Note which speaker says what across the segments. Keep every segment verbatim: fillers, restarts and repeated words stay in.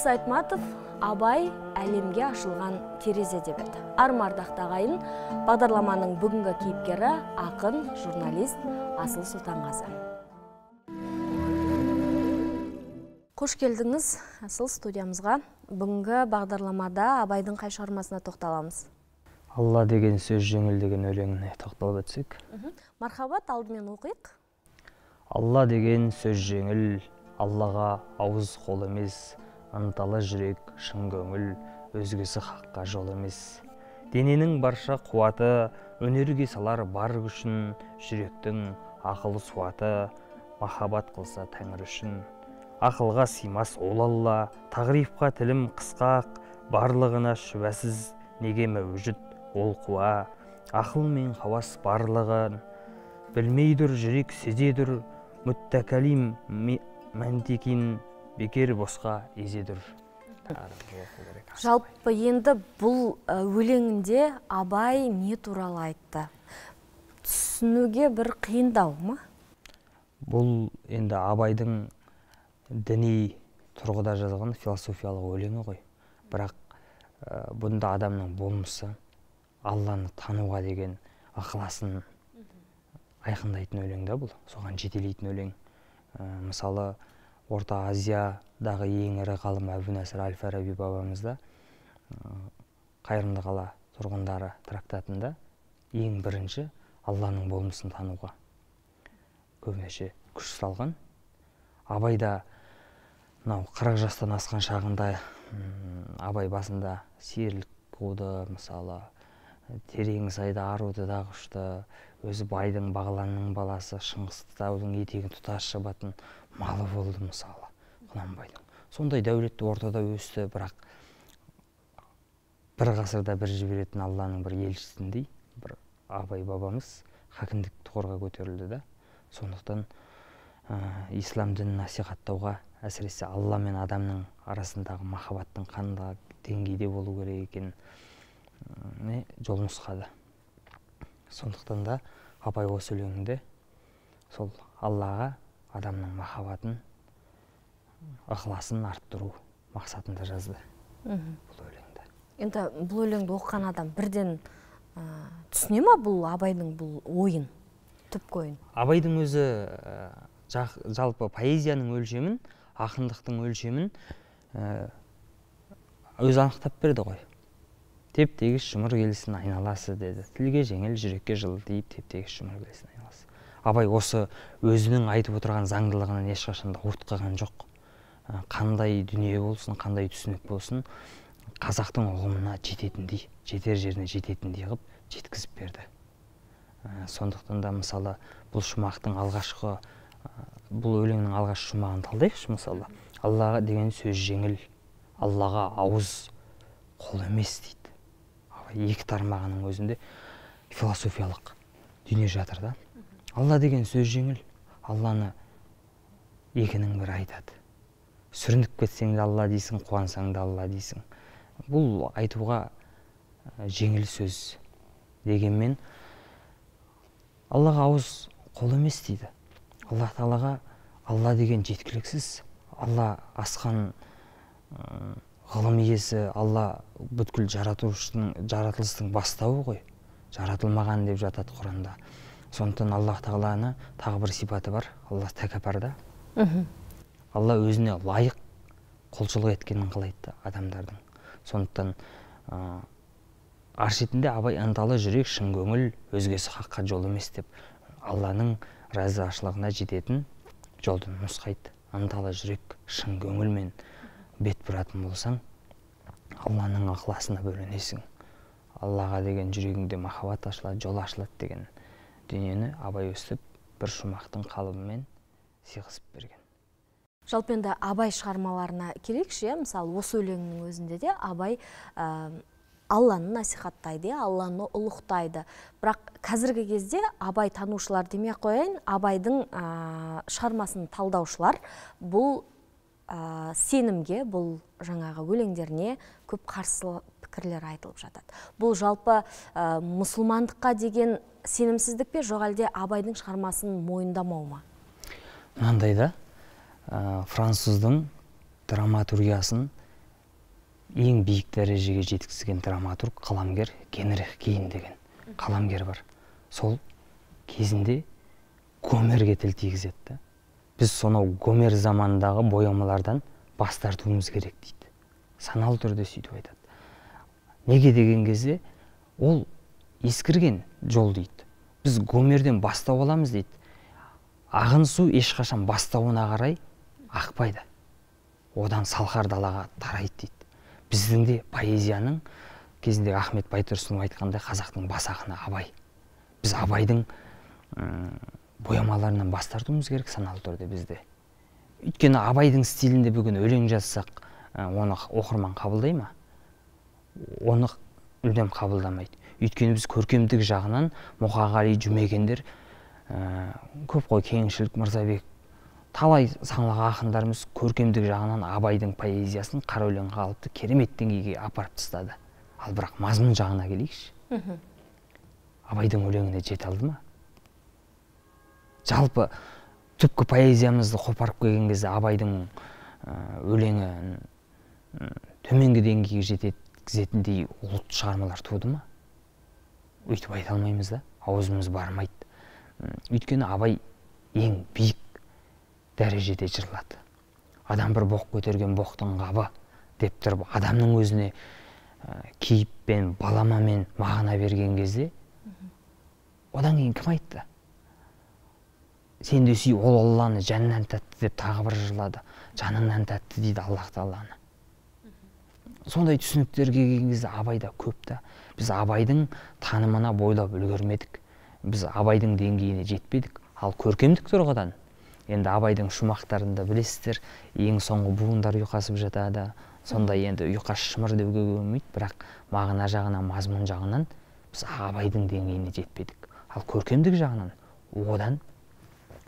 Speaker 1: Елдос Айтматов Абай әлемге ашылған терезе деп еді. Армардақ тағайын бағдарламаның бүгінгі кейіпкері ақын, журналист Асыл Сұлтанғазы. Қош келдіңіз Асыл студиямызға. Бүгінгі бағдарламада Абайдың қай шығармасына тоқталамыз?
Speaker 2: Алла деген сөз жеңіл деген өлеңіне тоқталып өтсек.
Speaker 1: Мархабат, алдымен оқиық.
Speaker 2: Алла деген сөз жеңіл, Аллаға ауыз қол емес, ынталы жүрек шын көңіл, өзгесі хаққа жол емес. Дененің барша қуаты, өнерге салар бар күшін, жүректің ақылы суаты, махаббат қылса тәңір үшін. Ақылға сыймас ол Алла, тағрифқа тілім қысқақ, барлығына шүбәсіз, неге мәужүд ол қуа. Ақыл мен хавас барлығын, білмейдір жүрек сезедір, мүттәкәлим мәнтекин бекер босқа езедір.
Speaker 1: Жалпы енді бұл өлеңінде Абай не туралы айтты? Түсінуге бір қиындау ма?
Speaker 2: Бұл енді Абайдың діни тұрғыда жазған философиялық өлеңі ғой. Бірақ бұнда адамның болмысы, Алланы тануға деген ықыласын айқындайтын өлең да бұл, соған жетелейтін өлең. Мысалы, Орта Азиядағы ең ірі ғалым Әбу-Насыр әл-Фараби бабамызда Қайырымды қала тұрғындары трактатында ең бірінші Алланың болмысын тануға көбінесе күш салған. Абайда қырық жастан асқан шағында Абай басында серілік қуды, мысалы, терең сайда аруды да құшты, өзі байдың бағланның баласы Шыңғыстаудың етегін тұтас шабатын малы болды, мысалы, Құнанбайдың. Сондай дәулетті ортада өсті, бірақ бір ғасырда бір жіберетін Алланың бір елшісіндей, бір Абай бабамыз хакімдік тұғырға көтерілді да. Сондықтан ислам дінін насихаттауға, әсіресе Алла мен адамның арасындағы махаббаттың қандай деңгейде болу керек екенін жол нұсқады. Сондықтан да Абай осы өлеңінде сол Аллаға адамның махаббатын, ықыласын арттыру мақсатында жазды бұл өлеңді.
Speaker 1: Енді бұл өлеңді оқыған адам бірден түсіне ма бұл Абайдың бұл ойын, түпкі ойын?
Speaker 2: Абайдың өзі жалпы поэзияның өлшемін, ақындықтың өлшемін өзі анықтап берді ғой. Теп-тегіс жұмыр келсін айналасы деді. Тілге жеңіл, жүрекке жылы дейіп, теп-тегіс жұмыр келсін айналасы. Абай осы өзінің айтып отырған заңдылығынан ешқашанда ауытқыған жоқ. Қандай дүние болсын, қандай түсінік болсын, қазақтың ұғымына жететіндей, жетер жеріне жететіндей қылып жеткізіп берді. Сондықтан да мысалы бұл шумақтың алғашқы, бұл өлеңнің алғашқы шумағын талдайықшы, мысалы. Аллаға деген сөз жеңіл, Аллаға ауыз қол емес дейді. Екі тармағының өзінде философиялық дүние жатыр да. Алла деген сөз жеңіл, Алланы екінің бірі айтады. Сүрініп кетсең де Алла дейсің, қуансаң да Алла дейсің. Бұл айтуға жеңіл сөз дегенмен Аллаға ауыз қол емес дейді. Алла Тағалаға Алла деген жеткіліксіз, Алла асқан ғылым иесі, Алла бүткіл жаратылыстың бастауы ғой. Жаратылмаған деп жатады Құранда. Сондықтан Аллах Тағаланы тағы бір сипаты бар, Алла тәкаппар. Алла өзіне лайық құлшылық еткенін қалайды адамдардың. Сондықтан ар шетінде Абай ынталы жүрек шын көңіл, өзгесі хаққа жол емес деп Алланың разылығына жететін жолды нұсқайды. Ынталы жүрек шын көңілмен бет бұратын болсаң, Алланың ықыласына бөленесің. Аллаға деген жүрегіңде махаббат ашылады, жол ашылады деген дүниені Абай өстіп бір шумақтың қалыбымен сыйғызып берген.
Speaker 1: Жалпы енді Абай шығармаларына келейікші, мысалы осы өлеңнің өзінде де Абай Алланы насихаттайды, Алланы ұлықтайды. Бірақ қазіргі кезде Абай танушылар демей қояйын, Абайдың шығармасын талдаушылар бұл сенімге, бұл жаңағы өлеңдеріне көп қарсы пікірлер айтылып жатады. Бұл жалпы мұсылмандыққа деген сенімсіздік пе, жоқ әлде Абайдың шығармасын мойындамау ма?
Speaker 2: Мынандай да, француздың драматургиясын ең биік дәрежеге жеткізген драматург, қаламгер Генрих Кейн деген қаламгер бар. Сол кезінде Гомерге тіл тигізеді. Біз сонау Гомер заманындағы боямалардан бас тартуымыз керек дейді. Саналы түрде сөйтіп айтады. Неге деген кезде ол ескірген жол дейді. Біз Гомерден бастау аламыз дейді. Ағын су ешқашан бастауына қарай ақпайды. Одан салқар далаға тарайды дейді. Біздің де поэзияның кезінде Ахмет Байтұрсынов айтқандай қазақтың бас ақыны Абай. Біз Абайдың боямаларынан бас тартуымыз керек саналы түрде бізде. Өйткені Абайдың стилінде бүгін өлең жазсақ, оны оқырман қабылдай ма? Оны мүлдем қабылдамайды. Өйткені біз көркемдік жағынан Мұқағали, Жұмекендер, көп қой, Кеңшілік, Мырзабек, талай саңлақ ақындарымыз көркемдік жағынан Абайдың поэзиясын қара өлеңге алыпты, керемет деңгейге апарып тастады. Ал бірақ мазмұн жағына келейікші. Абайдың өлеңіне жете алды ма? Жалпы түпкі поэзиямызды қопарып келген кезде Абайдың өлеңі төменгі деңгейге жеткізетіндей ұлт шығармалар туды ма? Өйтіп айта алмаймыз да, аузымыз бармайды. Өйткені Абай ең биік дәрежеде жырлады. Адам бір боқ көтерген боқтың қабы деп тұрып, адамның өзіне кейіппен, баламамен мағына берген кезде, одан кейін кім айтты? Сен де сүй ол Алланы жанынан тәтті деп тағы бір жырлады. Жанынан тәтті дейді Аллах Тағаланы. Сондай түсініктерге келген кезде Абайда көп та. Біз Абайдың танымына бойлап үлгермедік. Біз Абайдың деңгейіне жетпедік. Ал көркемдік тұрғыдан, енді Абайдың шумақтарында білесіздер, ең соңғы буындар ұйқасып жатады. Сондай енді ұйқас шымыр деуге болмайды, бірақ мағына жағынан, мазмұн жағынан біз Абайдың деңгейіне жетпедік. Ал көркемдік жағынан одан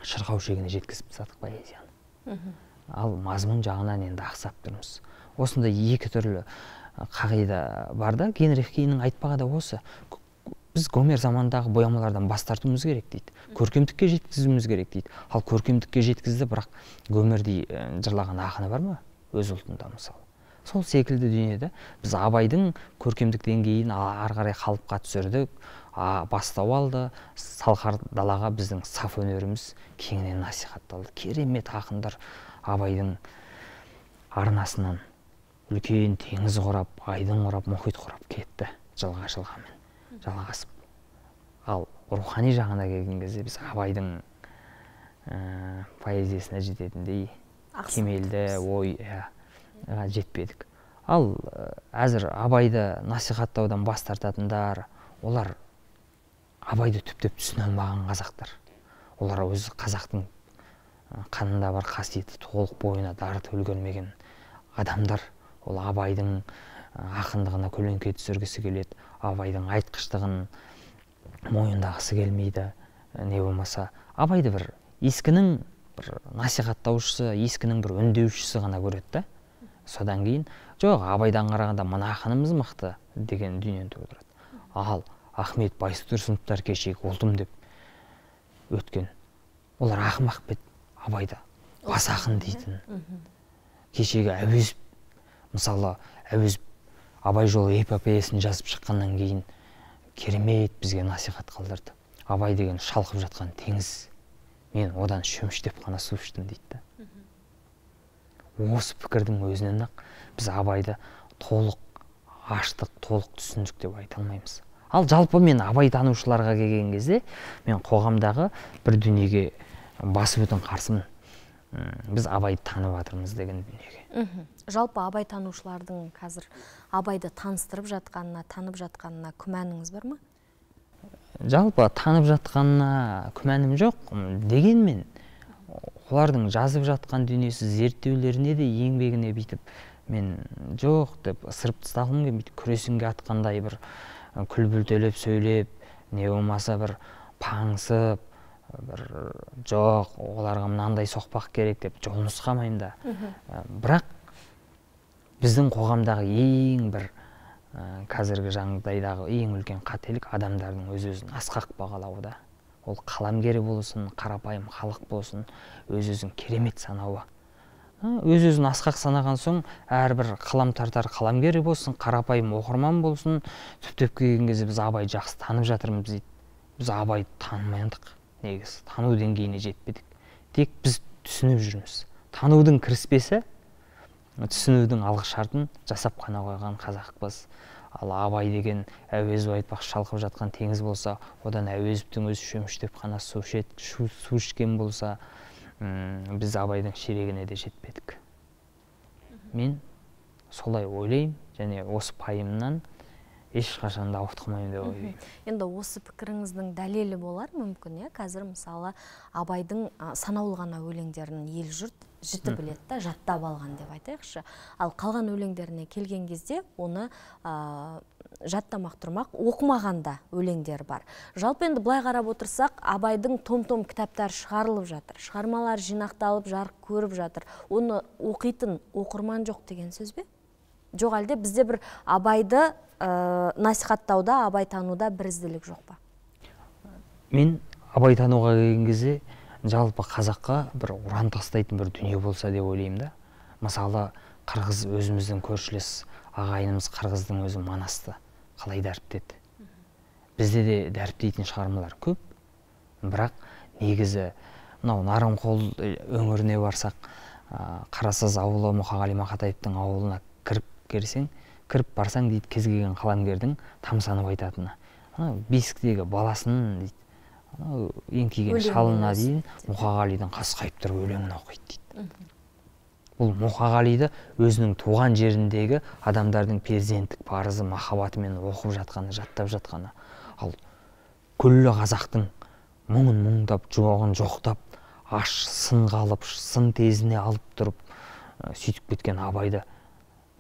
Speaker 2: шырқау шегіне жеткізіп тастадық поэзияны. Ал мазмұн жағынан енді ақсап тұрмыз. Осында екі түрлі қағида бар да, Генрих Кейннің айтпағы да осы. Біз Гомер замандағы боямалардан бас тартуымыз керек дейді. Көркемдікке жеткізуіміз керек дейді. Ал көркемдікке жеткізді, бірақ Гомердей жырлаған ақыны бар ма? Өз ұлтында мысалы. Сол секілді дүниеде біз Абайдың көркемдік деңгейін ары қарай қалыпқа түсірдік, бастау алды, салқар далаға біздің саф өнеріміз кеңінен насихатталды. Керемет ақындар Абайдың арнасынан үлкен теңіз құрап, айдын құрап, мұхит құрап кетті жылға жылғамен жалғасып. Ал рухани жағына келген кезде біз Абайдың поэзиясына жететіндей кемелді ой жетпедік. Ал әзір Абайды насихаттаудан бас тартатындар, олар Абайды түптеп түсіне алмаған қазақтар. Олар өзі қазақтың қанында бар қасиеті толық бойына дарытып үлгермеген адамдар. Ол Абайдың ақындығына көлеңке түсіргісі келеді, Абайдың айтқыштығын мойындағысы келмейді. Не болмаса Абайды бір ескінің бір насихаттаушысы, ескінің бір үндеушісі ғана көреді. Содан кейін, жоқ, Абайдан қарағанда мына ақынымыз мықты деген дүниені тудырады. Ал Ахмет Байтұрсыновтар кешегі ұлтым деп өткен. Олар ақымақ бет, Абайда бас ақын дейтін. Кешегі Әуезов, мысалы, Әуезов Абай жолы эпопеясын жазып шыққаннан кейін керемет бізге насихат қалдырды. Абай деген шалқып жатқан теңіз, мен одан шөміштеп қана су іштім дейді. Осы пікірдің өзінен ақ біз Абайды толық аштық, толық түсіндік деп айта алмаймыз. Ал жалпы мен Абай танушыларға келген кезде мен қоғамдағы бір дүниеге басы бүтін қарсымын. Біз Абайды танып жатырмыз деген дүниеге.
Speaker 1: Жалпы Абай танушылардың қазір Абайды таныстырып жатқанына, танып жатқанына күмәніңіз бар ма?
Speaker 2: Жалпы танып жатқанына күмәнім жоқ, дегенмен олардың жазып жатқан дүниесі зерттеулеріне де еңбегіне бүйтіп мен жоқ деп ысырып тастағым келмейді. Күресінге атқандай бір күлбілтелеп сөйлеп, не болмаса бір паңсып, бір жоқ, оларға мынандай соқпақ керек деп жол нұсқамаймын да. Бірақ біздің қоғамдағы ең бір қазіргі жағдайдағы ең үлкен қателік адамдардың өз-өзін асқақ бағалауда. Ол қаламгері болсын, қарапайым халық болсын, өз-өзін керемет санауы. өз-өзін асқақ санаған соң, әрбір қалам тартар қаламгері болсын, қарапайым оқырман болсын, түптеп келген кезде біз Абайды жақсы танып жатырмыз дейді. Біз Абайды танымайдық, негізі тану деңгейіне жетпедік. Тек біз түсініп жүрміз. Танудың кіріспесі, түсінудің алғы шартын жасап қана қойған қазақпыз. Ал Абай деген Әуезов айтпақшы шалқып жатқан теңіз болса, одан Әуезовтің өзі шөміштеп қана су ішкен болса, біз Абайдың ширегіне де жетпедік. Мен солай ойлаймын, және осы пайымнан ешқашан да ауытқымаймын деп ойлаймын.
Speaker 1: Енді осы пікіріңіздің дәлелі болар мүмкін, иә? Қазір мысалы Абайдың санаулы ғана өлеңдерін ел жұрт жіті біледі да, жаттап алған деп айтайықшы. Ал қалған өлеңдеріне келген кезде оны жаттамақ тұрмақ, оқымағанда өлеңдер бар. Жалпы енді былай қарап отырсақ, Абайдың том-том кітаптар шығарылып жатыр. Шығармалар жинақталып, жарық көріп жатыр. Оны оқитын оқырман жоқ деген сөз бе? Жоқ, әлде бізде бір Абайды насихаттауда, Абай тануда бірізділік жоқ па?
Speaker 2: Мен Абай тануға келген кезде жалпы қазаққа бір уран тастайтын бір дүние болса деп ойлаймын да. Мысалы, қырғыз өзіміздің көршілес ағайынымыз қырғыздың өзі Манасты қалай дәріптеді. Бізде де дәріптейтін шығармалар көп. Бірақ негізі мынау Нарынқол өңіріне барсақ, Қарасаз ауылы Мұқағали Мақатаевтың ауылына кіріп келсең, кіріп барсаң дейді, кез келген қаламгердің тамсанып айтатыны. Бесіктегі баласын дейді, еңкейген шалына дейін Мұқағалидың қасқайып тұрып өлеңін оқиды дейді. Бұл Мұқағалиды өзінің туған жеріндегі адамдардың перзенттік парызы, махаббатымен оқып жатқаны, жаттап жатқаны. Ал күллі қазақтың мұңын мұңдап, жоғын жоқтап, аш сын қалып, сын тезіне алып тұрып, сөйтіп кеткен Абайды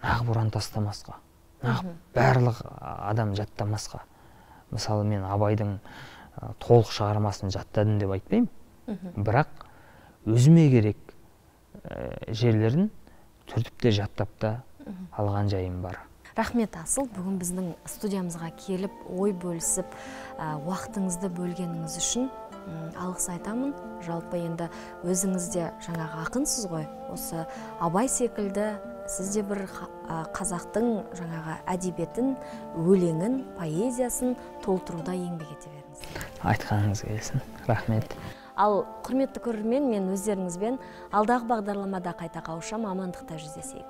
Speaker 2: нағып ұран тастамасқа, нағып барлық адам жаттамасқа. Мысалы, мен Абайдың толық шығармасын жаттадым деп айтпаймын, бірақ өзіме керек жерлерін түртіп те жаттап та алған жайым бар.
Speaker 1: Рахмет, Асыл, бүгін біздің студиямызға келіп, ой бөлісіп, уақытыңызды бөлгеніңіз үшін алғыс айтамын. Жалпы енді өзіңіз де жаңағы ақынсыз ғой, осы Абай секілді сіз де бір қазақтың жаңағы әдебиетін, өлеңін, поэзиясын толтыруда еңбек ете беріңіз.
Speaker 2: Айтқаныңыз келсін. Рахмет.
Speaker 1: Ал құрметті көрермен, мен өздеріңізбен алдағы бағдарламада қайта қауышам, амандықта жүздесейік.